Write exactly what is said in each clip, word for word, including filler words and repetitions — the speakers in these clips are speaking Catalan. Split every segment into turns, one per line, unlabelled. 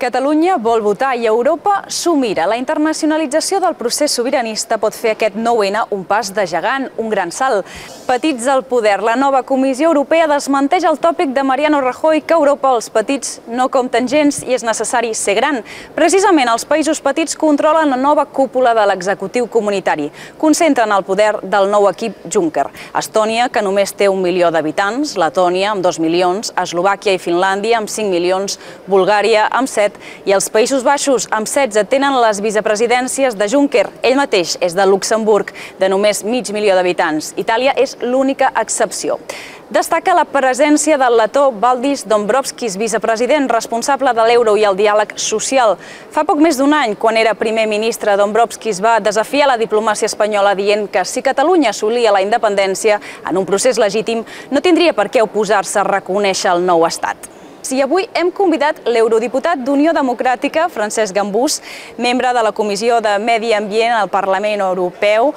Catalunya vol votar i Europa s'ho mira. La internacionalització del procés sobiranista pot fer aquest nou ena un pas de gegant, un gran salt. Petits al poder, la nova Comissió Europea desmenteix el tòpic de Mariano Rajoy que a Europa els petits no compten gens i és necessari ser gran. Precisament els països petits controlen la nova cúpula de l'executiu comunitari. Concentren el poder del nou equip Juncker. Estònia, que només té un milió d'habitants, Letònia amb dos milions, Eslovàquia i Finlàndia amb cinc milions, Bulgària amb set i els Països Baixos amb setze tenen les vicepresidències de Juncker. Ell mateix és de Luxemburg, de només mig milió d'habitants. Itàlia és l'única excepció. Destaca la presència del letó Valdis Dombrovskis, vicepresident responsable de l'euro i el diàleg social. Fa poc més d'un any, quan era primer ministre, Dombrovskis va desafiar la diplomàcia espanyola dient que si Catalunya assolia la independència en un procés legítim, no tindria per què oposar-se a reconèixer el nou estat. I avui hem convidat l'eurodiputat d'Unió Democràtica, Francesc Gambús, membre de la Comissió de Medi Ambient al Parlament Europeu.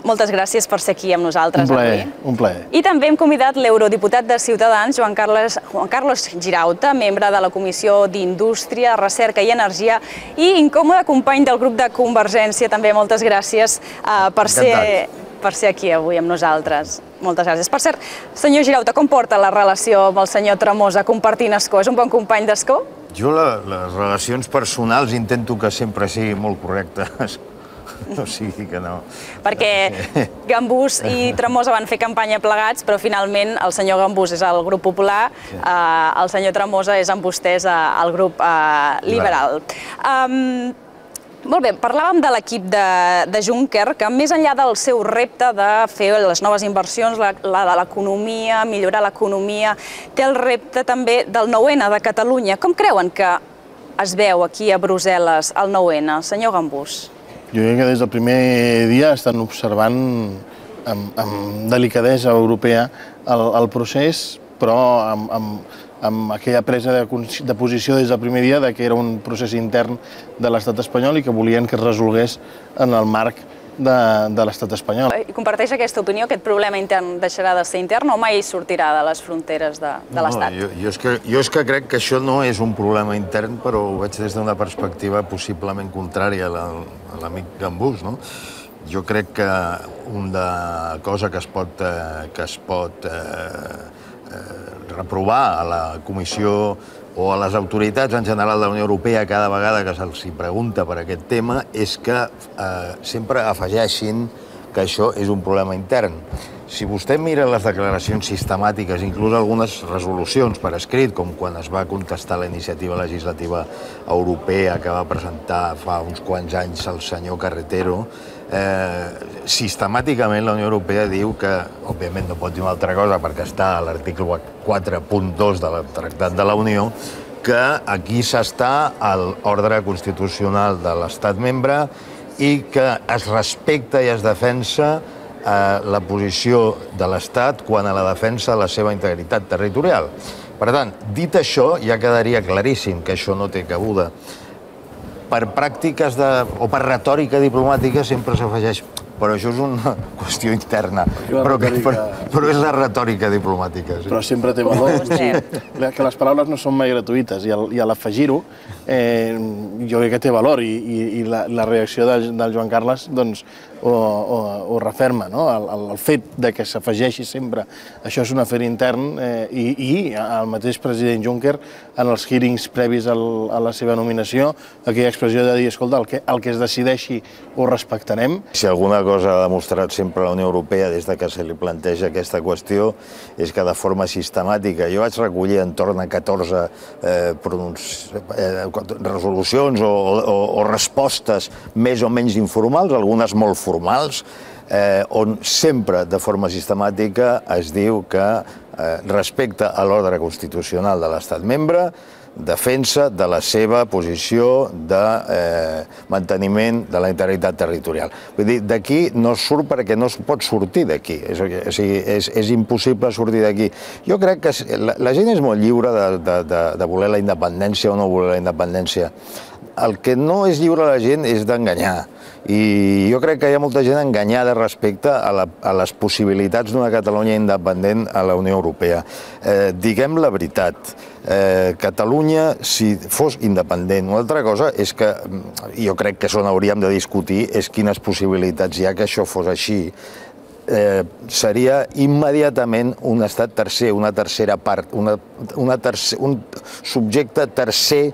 Moltes gràcies per ser aquí amb nosaltres avui.
Un plaer.
I també hem convidat l'eurodiputat de Ciutadans, Joan Carles, Juan Carlos Girauta, membre de la Comissió d'Indústria, Recerca i Energia i incòmode company del grup de Convergència. També moltes gràcies uh, per ser... per ser aquí avui amb nosaltres. Moltes gràcies. Per cert, senyor Girauta, com porta la relació amb el senyor Tremosa compartint escó? És un bon company d'escó?
Jo les relacions personals intento que sempre siguin molt correctes. No sigui que no.
Perquè Gambús i Tremosa van fer campanya plegats, però finalment el senyor Gambús és al grup popular, el senyor Tremosa és amb vostès al grup liberal. Molt bé, parlàvem de l'equip de Juncker, que més enllà del seu repte de fer les noves inversions, la de l'economia, millorar l'economia, té el repte també del nou ena de Catalunya. Com creuen que es veu aquí a Brussel·les el nou ena, senyor Gambús?
Jo crec que des del primer dia estan observant amb delicadesa europea el procés, però amb amb aquella presa de posició des del primer dia que era un procés intern de l'estat espanyol i que volien que es resolgués en el marc de l'estat espanyol.
I comparteix aquesta opinió, aquest problema intern deixarà de ser intern o mai sortirà de les fronteres de l'estat?
Jo és que crec que això no és un problema intern, però ho veig des d'una perspectiva possiblement contrària a l'amic Gambús. Jo crec que una cosa que es pot reprovar a la Comissió o a les autoritats en general de la Unió Europea cada vegada que se'ls pregunta per aquest tema és que sempre afegeixin que això és un problema intern. Si vostè mira les declaracions sistemàtiques, inclús algunes resolucions per escrit, com quan es va contestar la iniciativa legislativa europea que va presentar fa uns quants anys el senyor Carretero, sistemàticament la Unió Europea diu que, òbviament no pot dir una altra cosa perquè està a l'article quatre punt dos del Tractat de la Unió, que aquí s'està a l'ordre constitucional de l'estat membre i que es respecta i es defensa la posició de l'Estat quant a la defensa de la seva integritat territorial. Per tant, dit això, ja quedaria claríssim que això no té cabuda. Per pràctiques o per retòrica diplomàtica sempre s'afegeix, però això és una qüestió interna, però és la retòrica diplomàtica.
Però sempre té valor, que les paraules no són mai gratuïtes i a l'afegir-ho jo crec que té valor i la reacció del Joan Carles ho referma, el fet que s'afegeixi sempre això és un afer intern i el mateix president Juncker en els hearings previs a la seva nominació aquella expressió de dir, escolta, el que es decideixi ho respectarem.
Si alguna cosa ha demostrat sempre la Unió Europea des que se li planteja aquesta qüestió és que de forma sistemàtica, jo vaig recollir entorn a catorze resolucions o respostes més o menys informals, algunes molt formals, on sempre de forma sistemàtica es diu que respecte a l'ordre constitucional de l'estat membre, defensa de la seva posició de manteniment de la integritat territorial. Vull dir, d'aquí no surt perquè no es pot sortir d'aquí, és impossible sortir d'aquí. Jo crec que la gent és molt lliure de voler la independència o no voler la independència. el que no és lliure la gent és d'enganyar. I jo crec que hi ha molta gent enganyada respecte a, la, a les possibilitats d'una Catalunya independent a la Unió Europea. Eh, diguem la veritat, eh, Catalunya, si fos independent, una altra cosa és que, jo crec que això n'hauríem de discutir, és quines possibilitats hi ha que això fos així. Eh, seria immediatament un estat tercer, una tercera part, una, una tercer, un subjecte tercer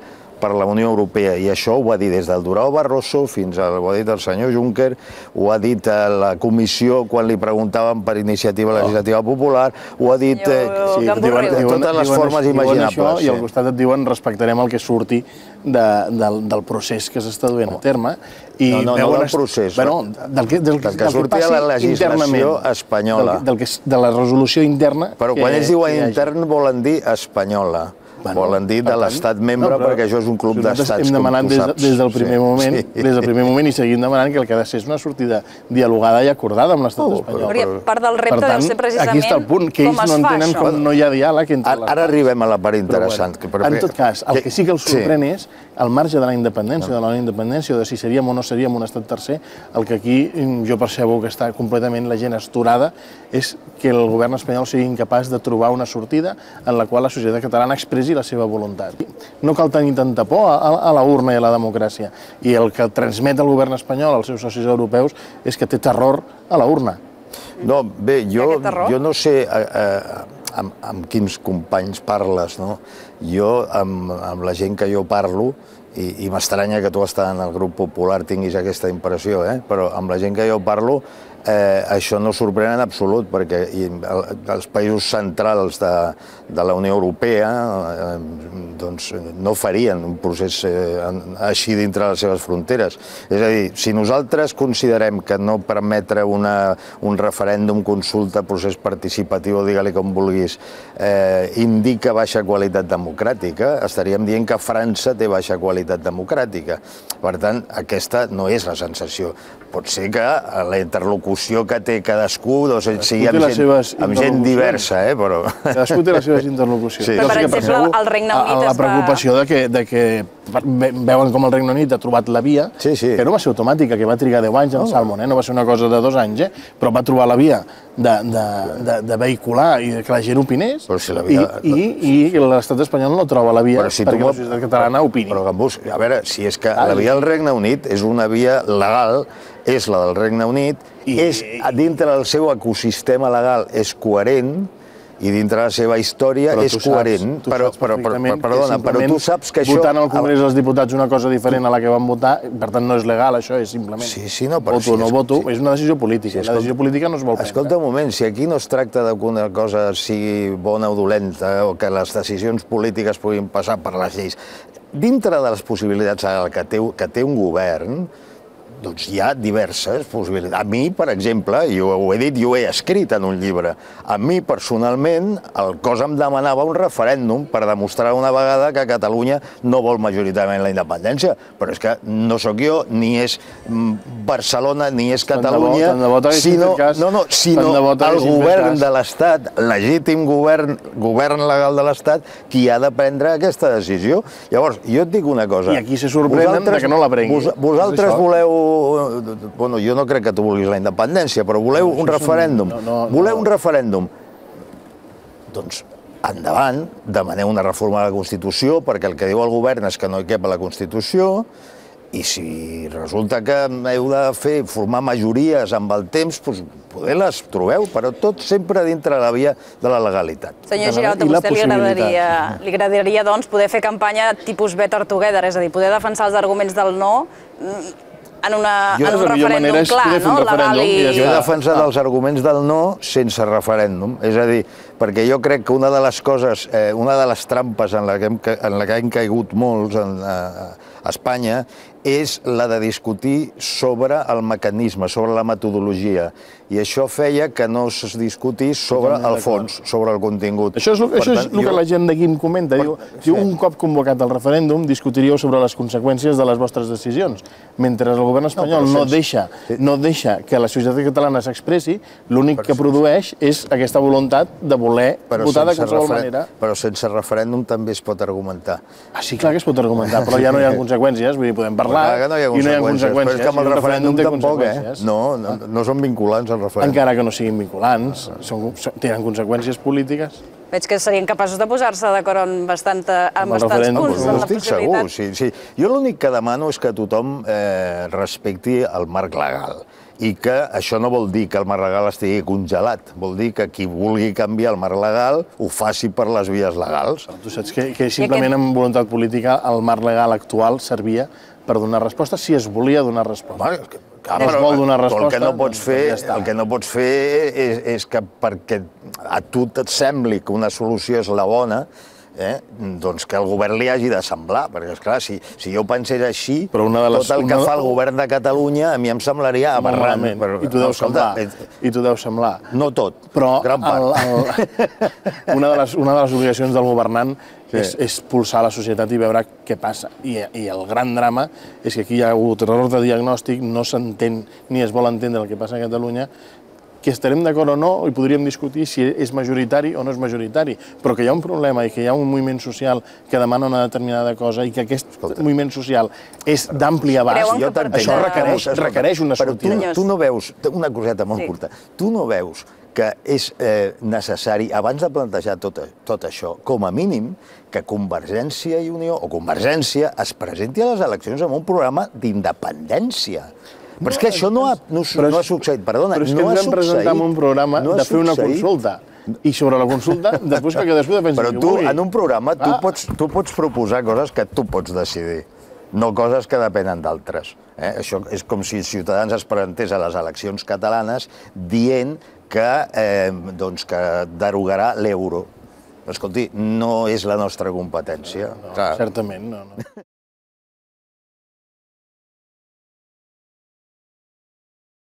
per la Unió Europea, i això ho va dir des del Durão Barroso fins a, ho ha dit el senyor Juncker, ho ha dit a la comissió quan li preguntaven per iniciativa legislativa popular, ho ha dit eh,
sí,
diuen, de totes les formes imaginables.
I al costat et diuen respectarem el que surti de, del, del procés que s'està duent a terme. I
no, no, no del procés.
Bueno, del que, del,
del que surti a la legislació espanyola.
Del, del que, de la resolució interna.
Però quan ells diuen intern volen dir espanyola. Bueno, volen dir de l'estat membre, no, perquè això és un club d'estats,
hem demanat des, des del primer sí, moment, sí. des del primer moment i seguim demanant que el que ha de ser és una sortida dialogada i acordada amb l'estat oh, espanyol.
Però, part del repte deu ser precisament
aquí està el punt, que ells no entenen com no hi ha diàleg entre
les... Ara arribem a la part interessant.
Però, bueno, en tot cas, el que sí que els sorprèn és al marge de la independència, de la no independència, o de si seríem o no seríem un estat tercer, el que aquí jo percebo que està completament la gent astorada és que el govern espanyol sigui incapaç de trobar una sortida en la qual la societat catalana expressi la seva voluntat. No cal tenir tanta por a, a la urna i a la democràcia. I el que transmet el govern espanyol als seus socis europeus és que té terror a la urna.
No, bé, jo, jo no sé eh, eh, amb, amb quins companys parles, no? Jo, amb, amb la gent que jo parlo, i, i m'estranya que tu estàs en el grup popular tinguis aquesta impressió, eh? Però amb la gent que jo parlo, Eh, això no sorprèn en absolut, perquè i, el, els països centrals de, de la Unió Europea eh, doncs, no farien un procés eh, així dintre les seves fronteres. És a dir, si nosaltres considerem que no permetre una, un referèndum, consulta, procés participatiu, digue-li com vulguis, eh, indica baixa qualitat democràtica, estaríem dient que França té baixa qualitat democràtica. Per tant, aquesta no és la sensació. Pot ser que la interlocució que té cadascú doncs, sigui amb gent, amb gent diversa, eh, però...
Cadascú té les seves interlocucions.
Sí. Però, per exemple, el Regne Unit es va...
La preocupació de que, de que veuen com el Regne Unit ha trobat la via,
sí, sí.
que no va ser automàtica, que va trigar deu anys en el Salmon, eh? No va ser una cosa de dos anys, eh? Però va trobar la via de, de, de, de vehicular i que la gent opinés, si la via... i, i, i l'estat espanyol no troba la via si perquè la societat catalana opini.
Però, Gambús, a veure, si és que la via del Regne Unit és una via legal, és la del Regne Unit, i és, dintre del seu ecosistema legal és coherent, i dintre la seva història és coherent. Però, però, però, perdona, però tu saps que això...
Votant al Congrés dels Diputats una cosa diferent a la que van votar, per tant no és legal, això és simplement...
Sí, sí, no, però...
Voto o no voto, és una decisió política. La decisió política no es vol prendre.
Escolta un moment, si aquí no es tracta que una cosa sigui bona o dolenta, o que les decisions polítiques puguin passar per les lleis, dintre de les possibilitats que té, que té un govern, doncs hi ha diverses possibilitats. A mi, per exemple, jo ho he dit i ho he escrit en un llibre, a mi personalment el cos em demanava un referèndum per demostrar una vegada que Catalunya no vol majoritàriament la independència, però és que no sóc jo, ni és Barcelona, ni és Catalunya, sinó, no, no, sinó el govern de l'Estat, legítim govern, govern legal de l'Estat, qui ha de prendre aquesta decisió. Llavors, jo et dic una cosa.
I aquí se sorprenen que no la prengui.
Vosaltres voleu... Bueno, jo no crec que tu vulguis la independència, però voleu un referèndum. Voleu un referèndum. Doncs endavant, demaneu una reforma de la Constitució, perquè el que diu el govern és que no hi cap a la Constitució, i si resulta que heu de fer, formar majories amb el temps, doncs poder les trobeu, però tot sempre dintre la via de la legalitat.
Senyor Giralt, a vostè li agradaria, li agradaria doncs, poder fer campanya tipus Better Together, és a dir, poder defensar els arguments del no en, una, en un referèndum clar, no? Legal i...
Jo he defensat els arguments del no sense referèndum. És a dir, perquè jo crec que una de les coses, eh, una de les trampes en la que hem, en la que hem caigut molts en, a, a Espanya és la de discutir sobre el mecanisme, sobre la metodologia. i això feia que no es discutís sobre el fons, sobre el contingut.
Això és, això és el que la gent d'aquí em comenta. Diu, diu, un cop convocat el referèndum, discutiríeu sobre les conseqüències de les vostres decisions. Mentre el govern espanyol no, no, deixa, no deixa que la societat catalana s'expressi, l'únic que produeix és aquesta voluntat de voler però votar de qualsevol manera.
Però sense referèndum també es pot argumentar.
Ah, sí, clar que es pot argumentar, però ja no hi ha conseqüències, vull dir, podem parlar
no hi ha
i no hi ha conseqüències.
Però és que amb el referèndum tampoc, eh? No, no, no són vinculants, el referèndum.
Encara que no siguin vinculants, són, tenen conseqüències polítiques.
Veig que serien capaços de posar-se d'acord en, bastant, en bastants punts.
No estic segur, sí, sí. Jo l'únic que demano és que tothom eh, respecti el marc legal. I que això no vol dir que el marc legal estigui congelat, vol dir que qui vulgui canviar el marc legal ho faci per les vies legals.
Tu saps que, que simplement amb voluntat política el marc legal actual servia per donar resposta si es volia donar resposta.
Home, clar, no es vol donar resposta, el que no pots fer, ja el que no pots fer és, és que perquè a tu et sembli que una solució és la bona, eh, doncs que el govern li hagi de semblar, perquè, esclar, si, si jo pensés així, però una de les, tot el que una... fa el govern de Catalunya a mi em semblaria aberrant.
Però, I tu deus no, semblar. I tu deus semblar.
No tot,
però
gran part.
El, el, una, de les, una de les obligacions del governant sí. és, és pulsar la societat i veure què passa. I, I el gran drama és que aquí hi ha hagut error de diagnòstic, no s'entén ni es vol entendre el que passa a Catalunya, que estarem d'acord o no, i podríem discutir si és majoritari o no és majoritari, però que hi ha un problema i que hi ha un moviment social que demana una determinada cosa i que aquest Escolta. moviment social és d'ampli abast, això requereix, requereix una sortida.
Però tu, tu no veus, una coseta molt sí. curta, tu no veus que és eh, necessari, abans de plantejar tot, tot això, com a mínim, que Convergència i Unió, o Convergència, es presenti a les eleccions amb un programa d'independència. Però és que això no ha, no, no ha succeït, perdona, no ha succeït.
Però és que ens vam presentar en un programa de fer una consulta. I sobre la consulta, després que cadascú defensi
Però tu, en un programa, tu pots, tu pots proposar coses que tu pots decidir, no coses que depenen d'altres. Eh? Això és com si Ciutadans es presentés a les eleccions catalanes dient que, eh, doncs, que derogarà l'euro. Escolti, no és la nostra competència.
No, no, certament, no. no.